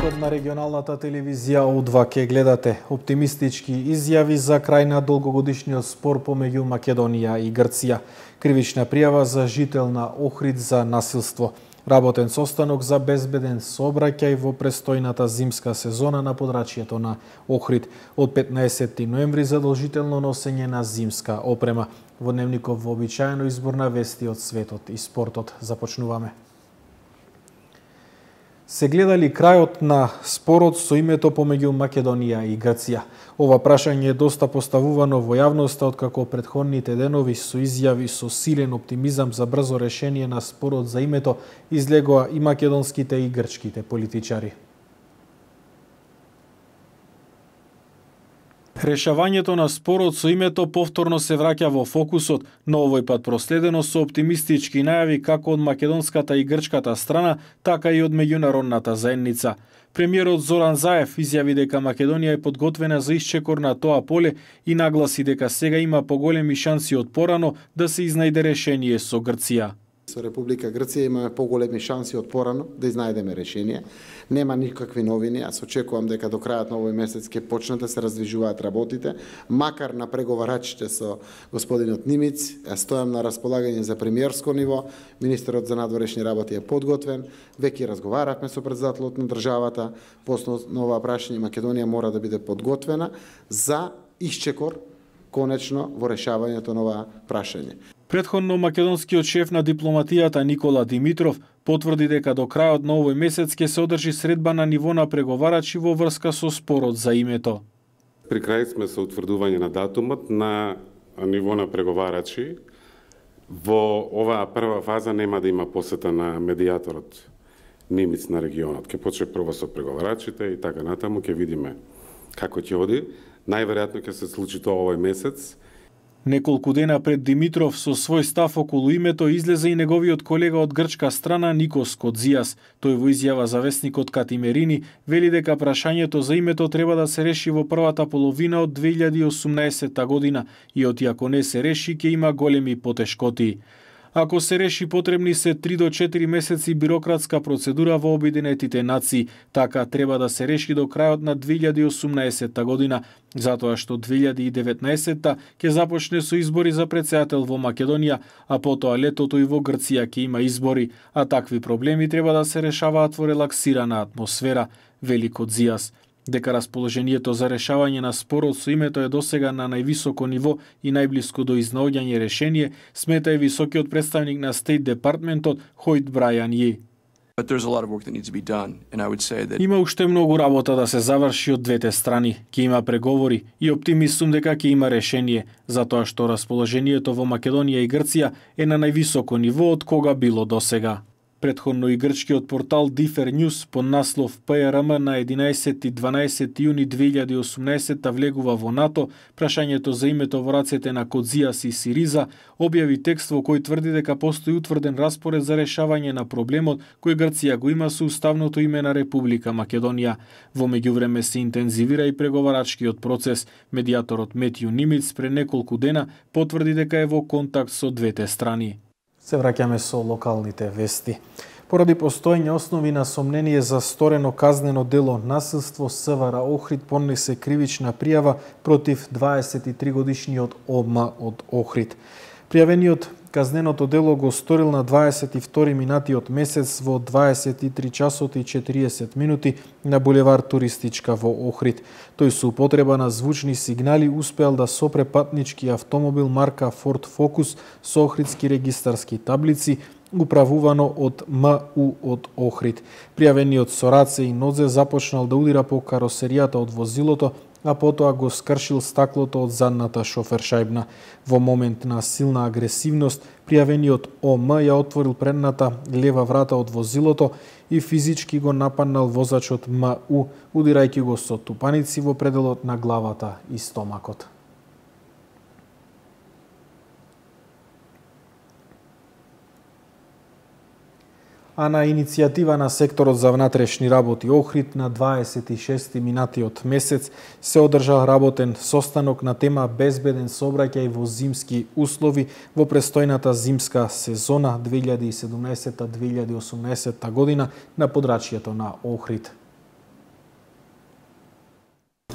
Вестникот на регионалната телевизија О2 ке гледате оптимистички изјави за крај на долгогодишниот спор помеѓу Македонија и Грција. Кривична пријава за жител на Охрид за насилство. Работен состанок за безбеден сообраќај во престојната зимска сезона на подрачјето на Охрид. Од 15 ноември задолжително носење на зимска опрема. Во дневников вообичаено избор на вести од светот и спортот. Започнуваме. Се гледали крајот на спорот со името помеѓу Македонија и Грција? Ова прашање е доста поставувано во јавноста откако претходните денови со изјави со силен оптимизам за брзо решение на спорот за името излегоа и македонските и грчките политичари. Решавањето на спорот со името повторно се враќа во фокусот, но овој пат проследено со оптимистички најави како од македонската и грчката страна, така и од меѓународната заедница. Премиерот Зоран Заев изјави дека Македонија е подготвена за исчекор на тоа поле и нагласи дека сега има поголеми шанси од порано да се изнајде решение со Грција. Со Република Грција имаме поголеми шанси од порано да изнајдеме решение. Нема никакви новини, аз очекувам дека до крајот на овој месец ќе почнат да се раздвижуваат работите, макар на преговарачите со господинот Нимиц, стојам на располагање за премиерско ниво, министерот за надворешни работи е подготвен, веќе разговаравме со претседателот на државата, по основа прашање Македонија мора да биде подготвена за исчекор конечно во решавањето на ова прашање. Претходно македонскиот шеф на дипломатијата Никола Димитров потврди дека до крајот на овој месец ќе се одржи средба на ниво на преговарачи во врска со спорот за името. При крај сме со утврдување на датумот на ниво на преговарачи. Во оваа прва фаза нема да има посета на медијаторот Нимиц на регионот. Ќе почне прво со преговарачите и така натаму ќе видиме како ќе оди. Најверојатно ќе се случи тоа овој месец. Неколку дена пред Димитров со свој став околу името излезе и неговиот колега од грчка страна Никос Кодзијас. Тој во изјава за вестникот Катимерини вели дека прашањето за името треба да се реши во првата половина од 2018 година и ако не се реши ќе има големи потешкоти. Ако се реши, потребни се 3 до 4 месеци бирократска процедура во Обединетите нации. Така треба да се реши до крајот на 2018 година, затоа што 2019 ќе започне со избори за претседател во Македонија, а потоа летото и во Грција ќе има избори, а такви проблеми треба да се решаваат во релаксирана атмосфера, вели Кодзијас. Дека расположението за решавање на спорот со името е досега на највисоко ниво и најблиско до изнаоѓање решение, смета и високиот представник на Стейт Департментот Хојт Брајан Ји. Има уште многу работа да се заврши од двете страни. Ќе има преговори и оптимист сум дека ќе има решение, затоа што расположението во Македонија и Грција е на највисоко ниво од кога било досега. Претходно и грчкиот портал Дифер Ньюс под наслов ПРМ на 11 и 12 јуни 2018 влегува во НАТО, прашањето за името во рацете на Кодзијас и Сириза, објави текст во кој тврди дека постои утврден распоред за решавање на проблемот кој Грција го има со уставното име на Република Македонија. Во меѓувреме се интензивира и преговарачкиот процес. Медијаторот Метју Нимиц пред неколку дена потврди дека е во контакт со двете страни. Се враќаме со локалните вести. Поради постоење основи на сомнение за сторено казнено дело насилство, СВР Охрид поднесе кривична пријава против 23 годишниот ОМ од Охрид. Пријавениот казненото дело го сторил на 22 минатиот месец во 23 часот и 40 минути на булевар Туристичка во Охрид. Тој со употреба на звучни сигнали успеал да сопре патнички автомобил марка Ford Focus со охридски регистарски таблици, управувано од МУ од Охрид. Пријавениот со раце и нозе започнал да удира по каросеријата од возилото, а потоа го скршил стаклото од задната шофершајбна. Во момент на силна агресивност, пријавениот ОМ ја отворил предната лева врата од возилото и физички го нападнал возачот МУ, удирајќи го со тупаници во пределот на главата и стомакот. А на иницијатива на секторот за внатрешни работи Охрид на 26 минатиот месец се одржал работен состанок на тема безбеден сообраќај во зимски услови во престојната зимска сезона 2017-2018 година на подрачјето на Охрид.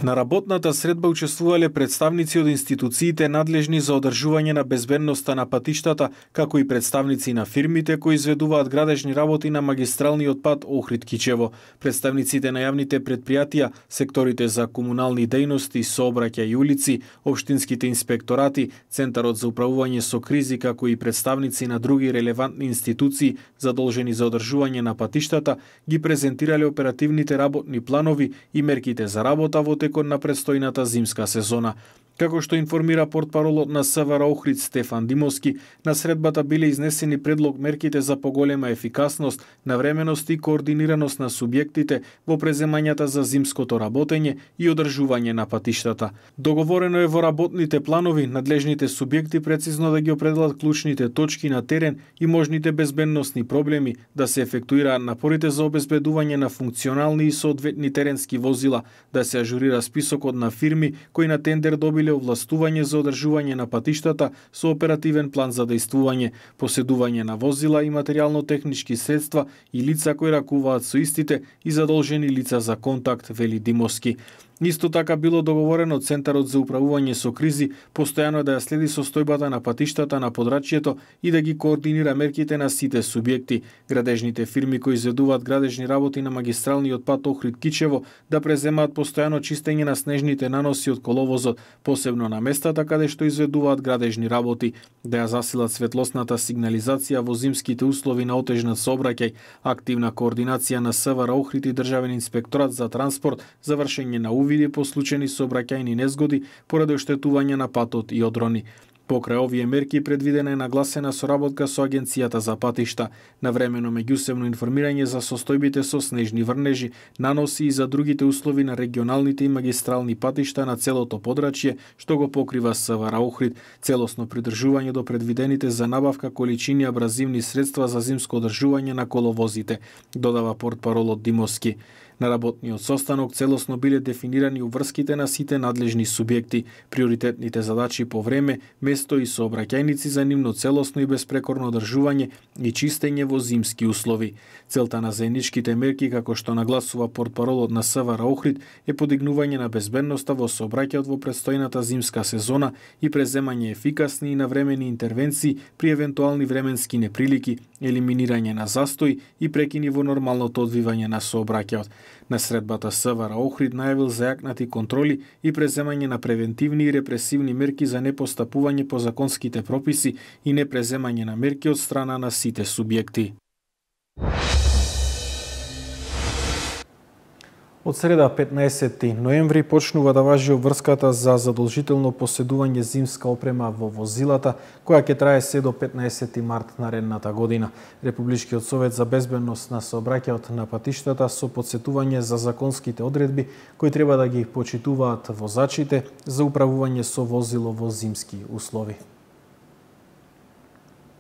На работната средба учествувале представници од институциите надлежни за одржување на безбедноста на патиштата, како и представници на фирмите кои изведуваат градежни работи на магистралниот пат Охрид-Кичево, представниците на јавните претпријатија, секторите за комунални дејности, сообраќај и улици, општинските инспекторати, Центарот за управување со кризи, како и представници на други релевантни институции задолжени за одржување на патиштата, ги презентирале оперативните работни планови и мерките за работа во текот на предстојната зимска сезона. Како што информира портпаролот на СВР Охрид Стефан Димовски, на средбата биле изнесени предлог мерките за поголема ефикасност, навременост и координираност на субјектите во преземањата за зимското работење и одржување на патиштата. Договорено е во работните планови надлежните субјекти прецизно да ги определат клучните точки на терен и можните безбедносни проблеми, да се ефектуираат напорите за обезбедување на функционални и соодветни теренски возила, да се ажурира списокот на фирми кои на тендер добиле овластување за одржување на патиштата со оперативен план за дејствување, поседување на возила и материјално-технички средства и лица кои ракуваат со истите и задолжени лица за контакт, вели Димовски. Исто така било договорено Центарот за управување со кризи постојано да ја следи состојбата на патиштата на подрачјето и да ги координира мерките на сите субјекти. Градежните фирми кои изведуваат градежни работи на магистралниот пат Охрид-Кичево да преземаат постојано чистење на снежните наноси од коловозот, посебно на местата каде што изведуваат градежни работи, да ја засилат светлосната сигнализација во зимските услови на отежнат сообраќај, активна координација на СВР Охрид и Државен инспекторат за транспорт за вршење на види по случајни сообраќајни незгоди поради оштетување на патот и одрони. Покрај овие мерки предвидена е нагласена соработка со Агенцијата за патишта, навремено меѓусебно информирање за состојбите со снежни врнежи, наноси и за другите услови на регионалните и магистрални патишта на целото подрачје што го покрива СВР Охрид, целосно придржување до предвидените за набавка количини абразивни средства за зимско одржување на коловозите, додава портпаролот Димовски. На работниот состанок целосно биле дефинирани уврските на сите надлежни субјекти, приоритетните задачи по време, место и сообраќајници за нивно целосно и безпрекорно одржување и чистење во зимски услови. Целта на заедничките мерки, како што нагласува портпаролот на СВР Охрид, е подигнување на безбедноста во сообраќајот во предстојната зимска сезона и преземање ефикасни и навремени интервенции при евентуални временски неприлики, елиминирање на застој и прекини во нормалното одвивање на сообраќајот. На средбата СВР Охрид најавил зајакнати контроли и преземање на превентивни и репресивни мерки за непостапување по законските прописи и непреземање на мерки од страна на сите субјекти. Од среда 15 ноември почнува да важи обврската за задолжително поседување зимска опрема во возилата, која ќе трае се до 15 март наредната година. Републичкиот совет за безбедност на сообраќајот на патиштата со потсетување за законските одредби кои треба да ги почитуваат возачите за управување со возило во зимски услови.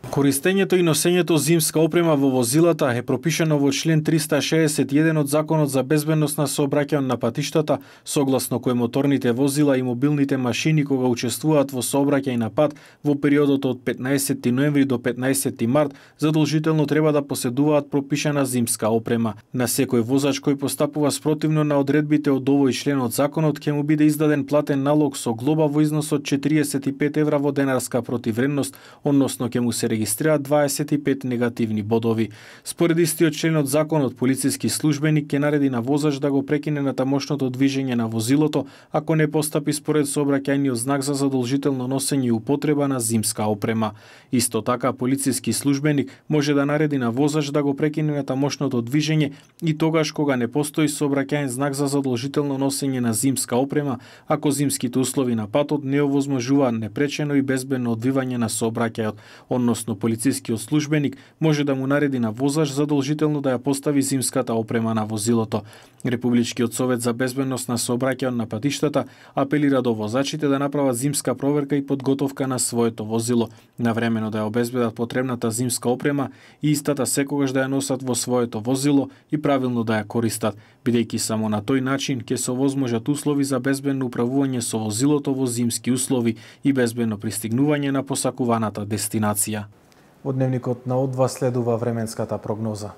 Користењето и носењето зимска опрема во возилата е пропишано во член 361 од Законот за безбедност на сообраќајот на патиштата, согласно кој моторните возила и мобилните машини кога учествуваат во сообраќај на пат во периодот од 15 ноември до 15 март задолжително треба да поседуваат пропишана зимска опрема. На секој возач кој постапува спротивно на одредбите од овој член од законот ќе му биде издаден платен налог со глоба во износ од 45 евра во денарска противвредност, односно ќе му се регистрираат 25 негативни бодови. Според истиот член од законот, полициски службеник ќе нареди на возач да го прекине натамошното движење на возилото ако не постапи според сообраќајниот знак за задолжително носење и употреба на зимска опрема. Исто така, полициски службеник може да нареди на возач да го прекине натамошното движење и тогаш кога не постои сообраќајен знак за задолжително носење на зимска опрема, ако зимските услови на патот не овозможуваат непречено и безбедно одвивање на сообраќајот, односно полицискиот службеник може да му нареди на возач задолжително да ја постави зимската опрема на возилото. Републичкиот совет за безбедност на сообраќајот на патиштата апелира до возачите да направат зимска проверка и подготовка на своето возило, навремено да ја обезбедат потребната зимска опрема и истата секогаш да ја носат во своето возило и правилно да ја користат, бидејќи само на тој начин ќе се овозможат услови за безбедно управување со возилото во зимски услови и безбедно пристигнување на посакуваната дестинација. Од дневникот на О2 следува временската прогноза.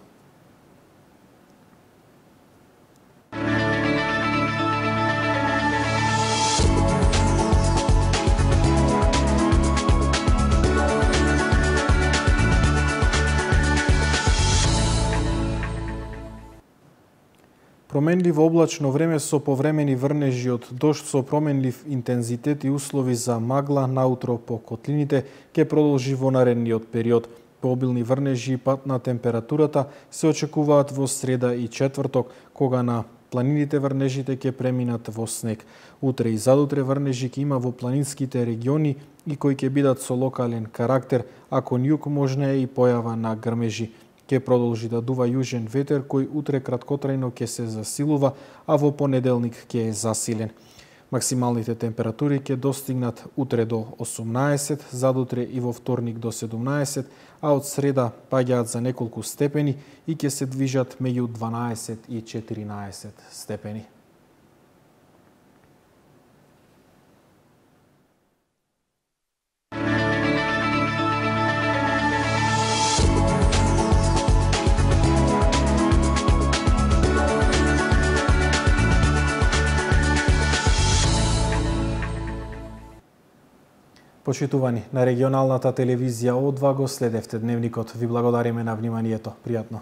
Променливо облачно време со повремени врнежи од дожд со променлив интензитет и услови за магла наутро по котлините ќе продолжи во наредниот период. Пообилни врнежи и пад на температурата се очекуваат во среда и четврток, кога на планините врнежите ќе преминат во снег. Утре и задутре врнежи ќе има во планинските региони и кои ќе бидат со локален карактер, а кон југ можна е и појава на грмежи. Ќе продолжи да дува јужен ветер кој утре краткотрајно ќе се засилува, а во понеделник ќе е засилен. Максималните температури ќе достигнат утре до 18, задутре и во вторник до 17, а од среда паѓаат за неколку степени и ќе се движат меѓу 12 и 14 степени. Почитувани, на регионалната телевизија О2 го следевте дневникот. Ви благодариме на вниманието. Пријатно.